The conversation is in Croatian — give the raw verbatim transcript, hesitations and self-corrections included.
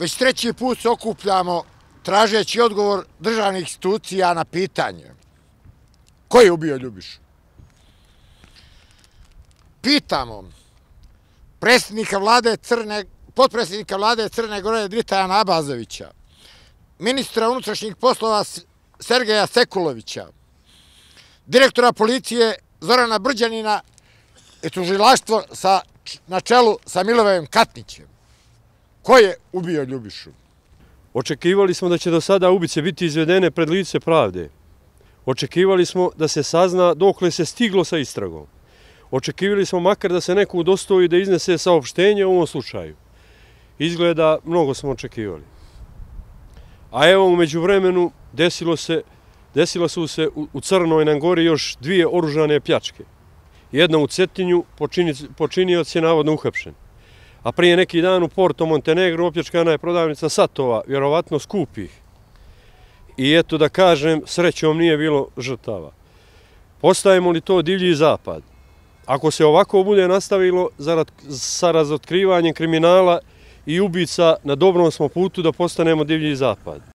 Već treći put se okupljamo tražeći odgovor državnih institucija na pitanje ko je ubio Ljubišu. Pitamo predsjednika vlade Crne, potpredsjednika vlade Crne Gore Dritajana Abazovića, ministra unutrašnjih poslova Sergeja Sekulovića, direktora policije Zorana Brđanina i tužilaštvo sa, na čelu sa Milivojom Katnićem. Ko je ubio Ljubišu? Očekivali smo da će do sada ubice biti izvedene pred lice pravde. Očekivali smo da se sazna dokle se stiglo sa istragom. Očekivali smo makar da se neko udostoji da iznese saopštenje u ovom slučaju. Izgleda, mnogo smo očekivali. A evo, umeđu vremenu desilo se, desilo su se u, u Crnoj Gori još dvije oružane pljačke. Jedna u Cetinju, počini, počinioc je navodno uhapšen. A prije neki dan u Porto Montenegro opljačkana je prodavnica satova, vjerovatno skupih. I eto da kažem, srećom nije bilo žrtava. Postajemo li to divlji zapad? Ako se ovako bude nastavilo sa razotkrivanjem kriminala i ubica, na dobrom smo putu da postanemo divlji zapad.